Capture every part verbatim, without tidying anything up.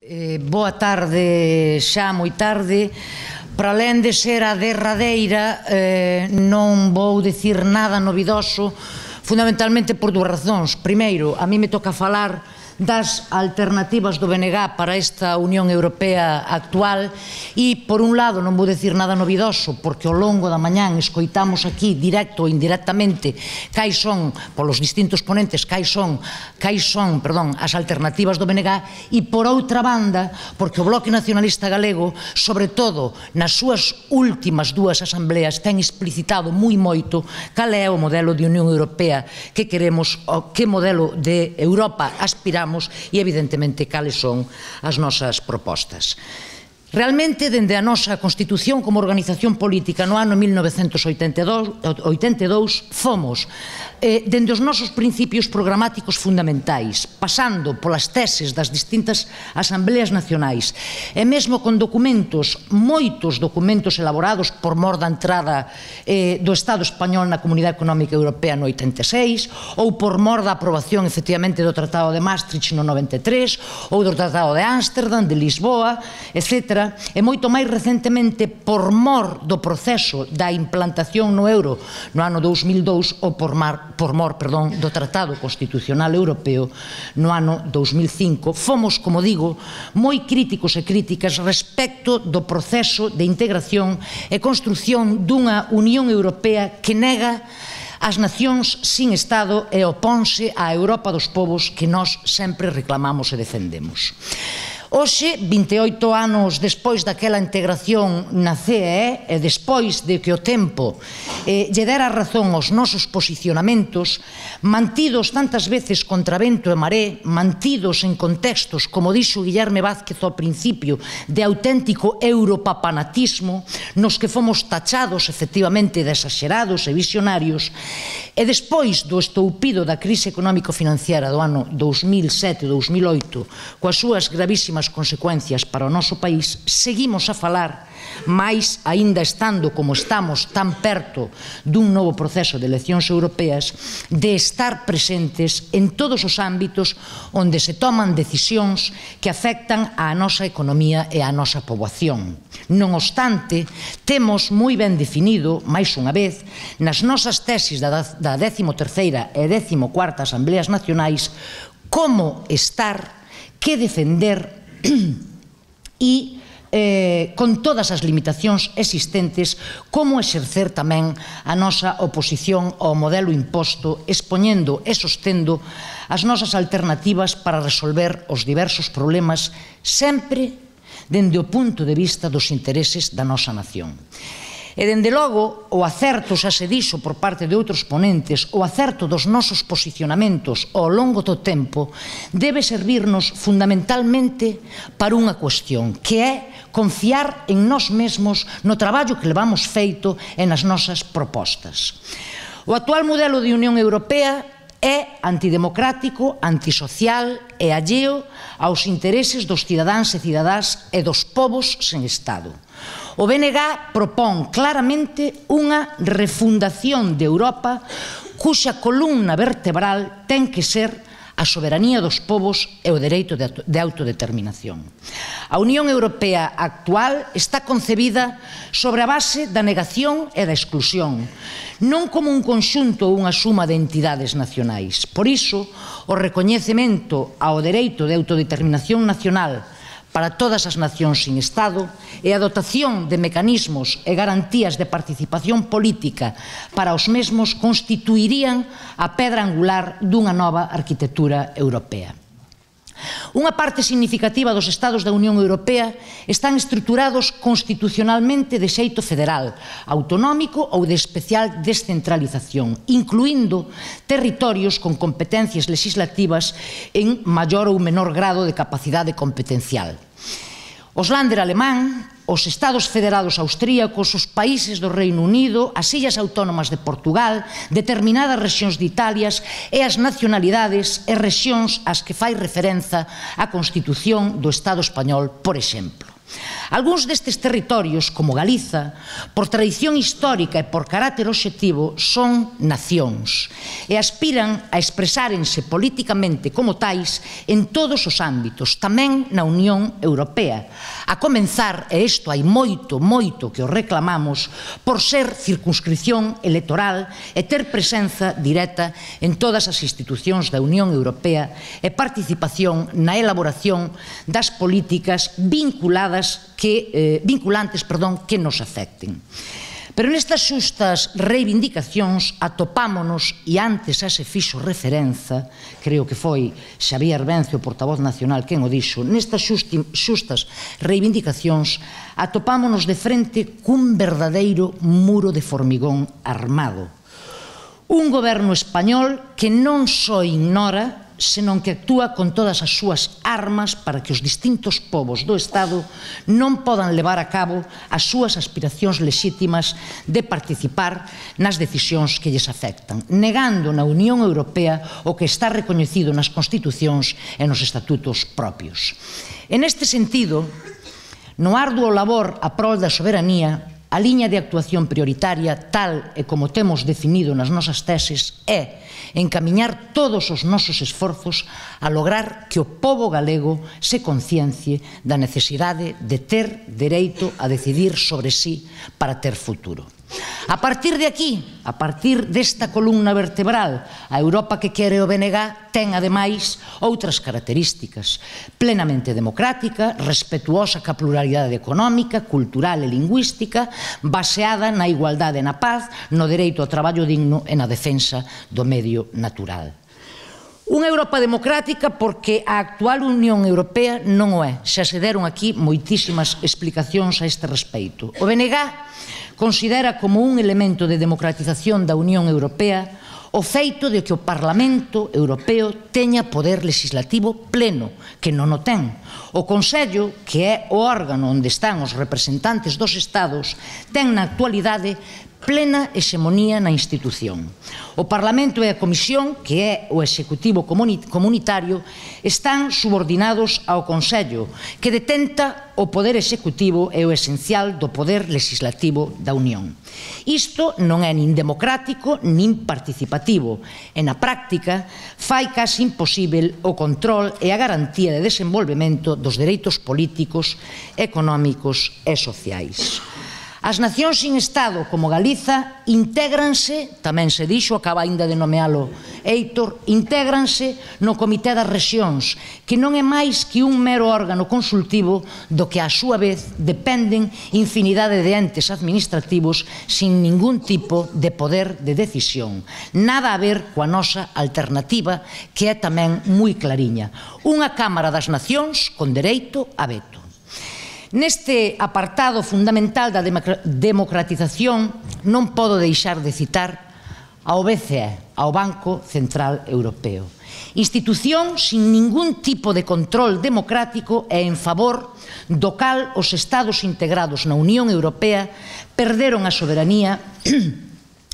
Eh, boa tarde, xa moi tarde. Para alén de ser a derradeira, eh, non vou dicir nada novidoso, fundamentalmente por dúas razóns. Primeiro, a mí me toca falar das alternativas do B N G para esta Unión Europea actual e, por un lado, non vou dicir nada novidoso porque ao longo da mañán escoitamos aquí, directo ou indirectamente, cais son, polos distintos ponentes, cais son, cais son, perdón, as alternativas do B N G e, por outra banda, porque o Bloque Nacionalista Galego, sobre todo nas súas últimas dúas asambleas, ten explicitado moi moito cal é o modelo de Unión Europea que queremos, que modelo de Europa aspiramos e, evidentemente, cales son as nosas propostas. Realmente, dende a nosa Constitución como organización política no ano mil novecentos oitenta e dous, fomos, eh, dende os nosos principios programáticos fundamentais, pasando polas teses das distintas asambleas nacionais, e mesmo con documentos, moitos documentos elaborados por mor da entrada eh, do Estado español na Comunidade Económica Europea no oitenta e seis, ou por mor da aprobación, efectivamente, do Tratado de Maastricht no noventa e tres, ou do Tratado de Ámsterdam, de Lisboa, etcétera, e moito máis recentemente por mor do proceso da implantación no euro no ano dous mil dous ou por mor, por mor perdón, do Tratado Constitucional Europeo no ano dous mil cinco, fomos, como digo, moi críticos e críticas respecto do proceso de integración e construción dunha Unión Europea que nega as nacións sin Estado e oponse á Europa dos povos que nós sempre reclamamos e defendemos. Hoxe, vinte e oito anos despois daquela integración na C E E e despois de que o tempo eh, lle dera razón aos nosos posicionamentos, mantidos tantas veces contra vento e maré, mantidos en contextos, como dixo Guillerme Vázquez ao principio, de auténtico europapanatismo, nos que fomos tachados efectivamente de exagerados e visionarios, e despois do estoupido da crise económico-financiera do ano dous mil sete e dous mil oito, coas súas gravísimas consecuencias para o noso país, seguimos a falar, máis aínda estando como estamos tan perto dun novo proceso de eleccións europeas, de estar presentes en todos os ámbitos onde se toman decisións que afectan á nosa economía e á nosa poboación. Non obstante, temos moi ben definido, máis unha vez, nas nosas tesis da décimo terceira e décimo cuarta Asambleas Nacionais, como estar, que defender e, eh, con todas as limitacións existentes, como exercer tamén a nosa oposición ao modelo imposto, expoñendo e sostendo as nosas alternativas para resolver os diversos problemas, sempre dende o punto de vista dos intereses da nosa nación. E, dende logo, o acerto, xa se dixo por parte de outros ponentes, o acerto dos nosos posicionamentos ao longo do tempo debe servirnos fundamentalmente para unha cuestión, que é confiar en nós mesmos, no traballo que levamos feito e nas nosas propostas. O actual modelo de Unión Europea é antidemocrático, antisocial e alleo aos intereses dos cidadáns e cidadás e dos povos sen Estado. O B N G propón claramente unha refundación de Europa cuxa columna vertebral ten que ser a soberanía dos povos e o dereito de autodeterminación. A Unión Europea actual está concebida sobre a base da negación e da exclusión, non como un conxunto ou unha suma de entidades nacionais. Por iso, o recoñecemento ao dereito de autodeterminación nacional para todas as nacións sin Estado e a dotación de mecanismos e garantías de participación política para os mesmos constituirían a pedra angular dunha nova arquitectura europea. Unha parte significativa dos Estados da Unión Europea están estruturados constitucionalmente de xeito federal, autonómico ou de especial descentralización, incluindo territorios con competencias legislativas en maior ou menor grado de capacidade competencial. Os Länder alemán, os Estados Federados austríacos, os países do Reino Unido, as Illas Autónomas de Portugal, determinadas rexións de Italia e as nacionalidades e rexións ás que fai referenza a Constitución do Estado español, por exemplo. Algúns destes territorios, como Galiza, por tradición histórica e por carácter obxectivo, son nacións e aspiran a expresárense políticamente como tais en todos os ámbitos, tamén na Unión Europea. A comenzar, e isto hai moito, moito que o reclamamos, por ser circunscripción electoral e ter presenza directa en todas as institucións da Unión Europea e participación na elaboración das políticas vinculadas que, eh, vinculantes perdón, que nos afecten. Pero nestas xustas reivindicacións atopámonos, e antes a se fixo referenza, creo que foi Xavier Vence, o portavoz nacional, quen o dixo, nestas xustas reivindicacións atopámonos de frente cun verdadeiro muro de formigón armado. Un goberno español que non só ignora, senón que actúa con todas as súas armas para que os distintos povos do Estado non podan levar a cabo as súas aspiracións lexítimas de participar nas decisións que lles afectan, negando na Unión Europea o que está recoñecido nas constitucións e nos estatutos propios. En este sentido, no arduo labor a prol da soberanía, a liña de actuación prioritaria, tal e como temos definido nas nosas teses, é encamiñar todos os nosos esforzos a lograr que o pobo galego se conciencie da necesidade de ter dereito a decidir sobre si para ter futuro. A partir de aquí, a partir desta columna vertebral, a Europa que quere o B N G ten, ademais, outras características: plenamente democrática, respetuosa ca pluralidade económica, cultural e lingüística, baseada na igualdade e na paz, no dereito ao traballo digno e na defensa do medio natural. Unha Europa democrática porque a actual Unión Europea non o é. Xa se deron aquí moitísimas explicacións a este respeito. O B N G considera como un elemento de democratización da Unión Europea o feito de que o Parlamento Europeo teña poder legislativo pleno, que non o ten. O Consello, que é o órgano onde están os representantes dos Estados, ten na actualidade plena hexemonía na institución. O Parlamento e a Comisión, que é o Executivo comunitario, están subordinados ao Consello, que detenta o poder executivo e o esencial do poder legislativo da Unión. Isto non é nin democrático nin participativo e, na práctica, fai case imposíbel o control e a garantía de desenvolvemento dos dereitos políticos, económicos e sociais. As nacións sin Estado, como Galiza, intégranse, tamén se dixo, acaba ainda de nomealo Heitor, intégranse no Comité das Rexións, que non é máis que un mero órgano consultivo do que, á súa vez, dependen infinidade de entes administrativos sin ningún tipo de poder de decisión. Nada a ver coa nosa alternativa, que é tamén moi clariña. Unha Cámara das Nacións con dereito a veto. Neste apartado fundamental da democratización non podo deixar de citar ao B C E, ao Banco Central Europeo. Institución sin ningún tipo de control democrático e en favor do cal os Estados integrados na Unión Europea perderon a soberanía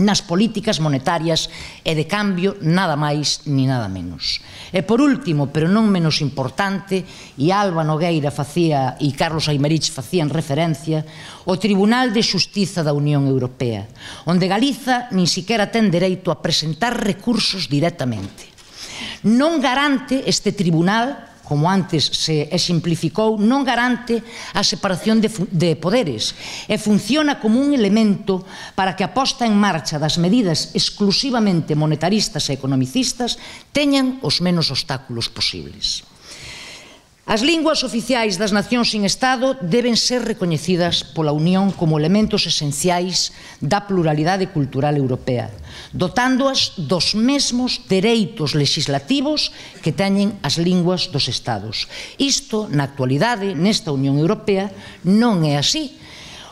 nas políticas monetarias e de cambio nada máis ni nada menos. E por último, pero non menos importante, e Alba Nogueira facía e Carlos Aymerich facían referencia, o Tribunal de Xustiza da Unión Europea, onde Galiza nin siquiera ten dereito a presentar recursos directamente. Non garante este tribunal, como antes se exemplificou, non garante a separación de, de poderes e funciona como un elemento para que a posta en marcha das medidas exclusivamente monetaristas e economicistas teñan os menos obstáculos posibles. As linguas oficiais das nacións sin Estado deben ser recoñecidas pola Unión como elementos esenciais da pluralidade cultural europea, dotándoas dos mesmos dereitos legislativos que teñen as linguas dos Estados. Isto, na actualidade, nesta Unión Europea, non é así.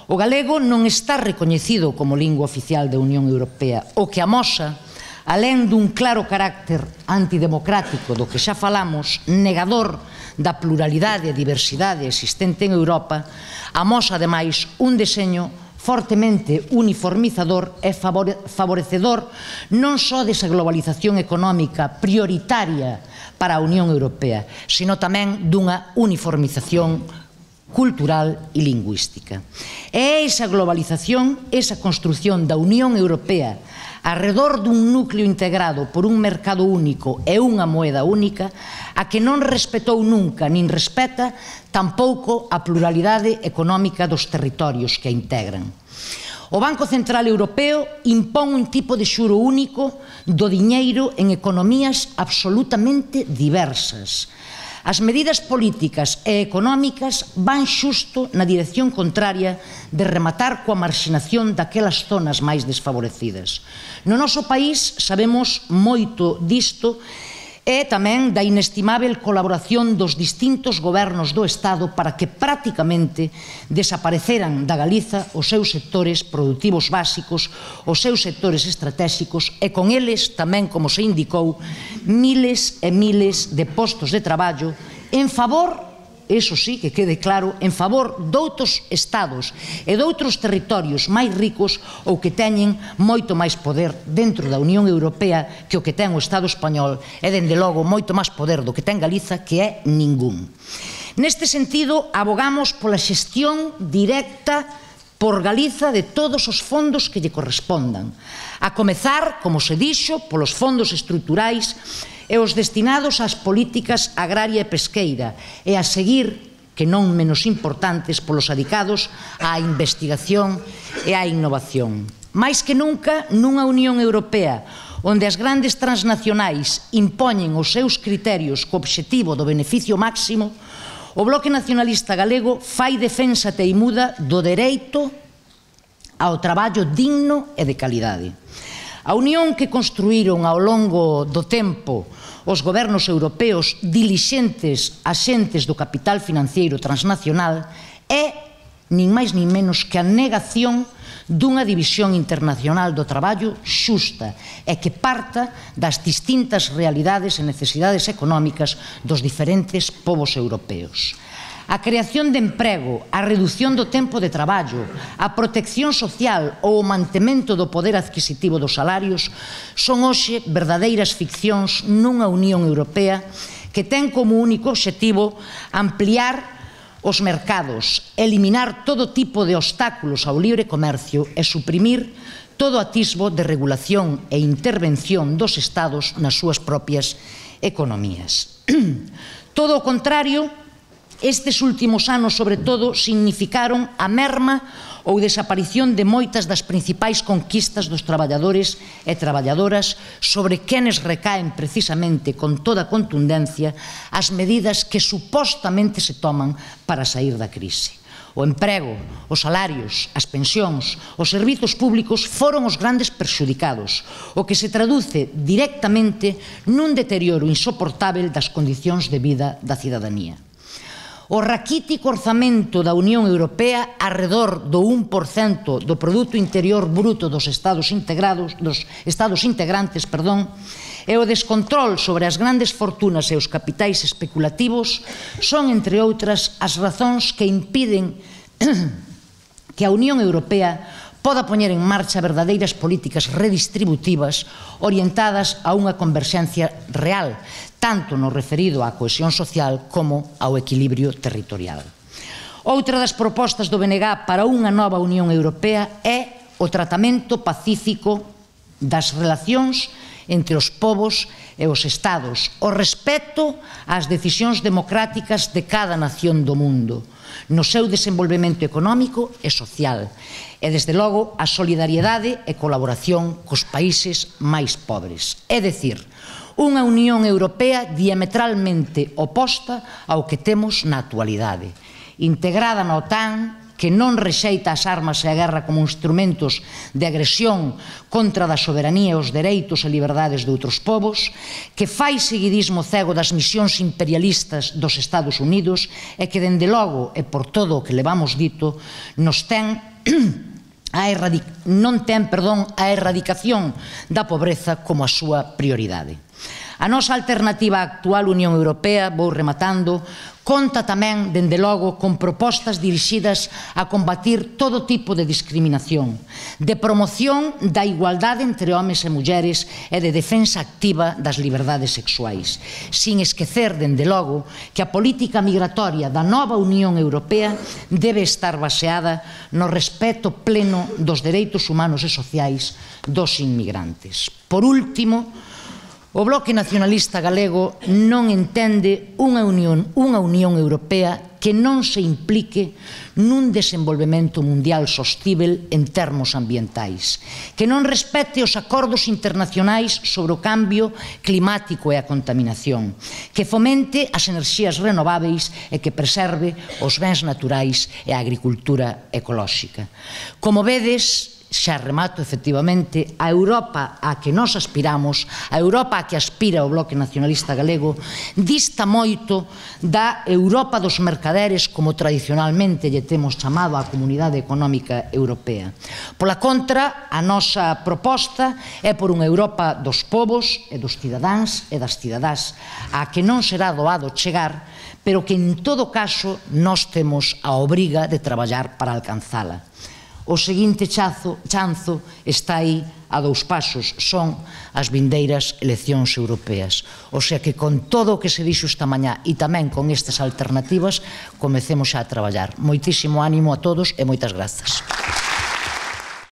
O galego non está recoñecido como lingua oficial da Unión Europea, o que amosa, alén dun claro carácter antidemocrático do que xa falamos, negador da pluralidade e diversidade existente en Europa, amosa ademais un deseño fortemente uniformizador e favorecedor non só desa globalización económica prioritaria para a Unión Europea, sino tamén dunha uniformización cultural e lingüística. É esa globalización, esa construción da Unión Europea arredor dun núcleo integrado por un mercado único e unha moeda única, a que non respetou nunca, nin respeta tampouco a pluralidade económica dos territorios que a integran. O Banco Central Europeo impón un tipo de xuro único do diñeiro en economías absolutamente diversas. As medidas políticas e económicas van xusto na dirección contraria de rematar coa marxinación daquelas zonas máis desfavorecidas. No noso país sabemos moito disto e tamén da inestimável colaboración dos distintos gobernos do Estado para que prácticamente desapareceran da Galiza os seus sectores produtivos básicos, os seus sectores estratégicos e con eles tamén, como se indicou, miles e miles de postos de traballo en favor, eso sí, que quede claro, en favor doutros estados e doutros territorios máis ricos ou que teñen moito máis poder dentro da Unión Europea que o que ten o Estado español e, dende logo, moito máis poder do que ten Galiza, que é ningún. Neste sentido, abogamos pola xestión directa por Galiza de todos os fondos que lle correspondan, a comezar, como se dixo, polos fondos estruturais e os destinados ás políticas agraria e pesqueira, e a seguir, que non menos importantes, polos adicados á investigación e á innovación. Mais que nunca, nunha Unión Europea onde as grandes transnacionais impoñen os seus criterios co obxectivo do beneficio máximo, o Bloque Nacionalista Galego fai defensa teimuda do dereito ao traballo digno e de calidade. A unión que construíron ao longo do tempo os gobernos europeos dilixentes axentes do capital financiero transnacional é, nin máis nin menos, que a negación dunha división internacional do traballo xusta e que parta das distintas realidades e necesidades económicas dos diferentes povos europeos. A creación de emprego, a redución do tempo de traballo, a protección social ou o mantemento do poder adquisitivo dos salarios son hoxe verdadeiras ficcións nunha Unión Europea que ten como único obxectivo ampliar os mercados, eliminar todo tipo de obstáculos ao libre comercio e suprimir todo atisbo de regulación e intervención dos Estados nas súas propias economías. Todo o contrario, estes últimos anos, sobre todo, significaron a merma ou desaparición de moitas das principais conquistas dos traballadores e traballadoras sobre quenes recaen precisamente con toda contundencia as medidas que supostamente se toman para sair da crise. O emprego, os salarios, as pensións, os servizos públicos foron os grandes perxudicados, o que se traduce directamente nun deterioro insoportável das condicións de vida da cidadanía. O raquítico orzamento da Unión Europea arredor do un por cento do Produto Interior Bruto dos Estados integrados, dos Estados integrantes, perdón, e o descontrol sobre as grandes fortunas e os capitais especulativos son, entre outras, as razóns que impiden que a Unión Europea poda poñer en marcha verdadeiras políticas redistributivas orientadas a unha converxencia real, tanto no referido á cohesión social como ao equilibrio territorial. Outra das propostas do B N G para unha nova Unión Europea é o tratamento pacífico das relacións entre os povos e os estados, o respeto ás decisións democráticas de cada nación do mundo, no seu desenvolvemento económico e social, e, desde logo, a solidariedade e colaboración cos países máis pobres. É dicir, unha Unión Europea diametralmente oposta ao que temos na actualidade, integrada na OTAN, que non rexeita as armas e a guerra como instrumentos de agresión contra da soberanía e os dereitos e liberdades de outros povos, que fai seguidismo cego das misións imperialistas dos Estados Unidos e que, dende logo, e por todo o que levamos dito, nos ten a non ten, perdón, a erradicación da pobreza como a súa prioridade. A nosa alternativa á actual Unión Europea, vou rematando, Conta tamén, dende logo, con propostas dirixidas a combatir todo tipo de discriminación, de promoción da igualdade entre homes e mulleres e de defensa activa das liberdades sexuais, sin esquecer, dende logo, que a política migratoria da nova Unión Europea debe estar baseada no respeto pleno dos dereitos humanos e sociais dos inmigrantes. Por último, o Bloque Nacionalista Galego non entende unha Unión, unha Unión Europea que non se implique nun desenvolvemento mundial sostíbel en termos ambientais, que non respete os acordos internacionais sobre o cambio climático e a contaminación, que fomente as enerxías renováveis e que preserve os bens naturais e a agricultura ecolóxica. Como vedes, xa remato, efectivamente, a Europa a que nós aspiramos, a Europa a que aspira o Bloque Nacionalista Galego, dista moito da Europa dos mercaderes, como tradicionalmente lle temos chamado a Comunidade Económica Europea. Pola contra, a nosa proposta é por unha Europa dos povos e dos cidadáns e das cidadás, a que non será doado chegar, pero que, en todo caso, nós temos a obriga de traballar para alcanzala. O seguinte chanzo está aí a dous pasos, son as vindeiras eleccións europeas. O sea que con todo o que se dixo esta mañá e tamén con estas alternativas, comecemos xa a traballar. Moitísimo ánimo a todos e moitas grazas.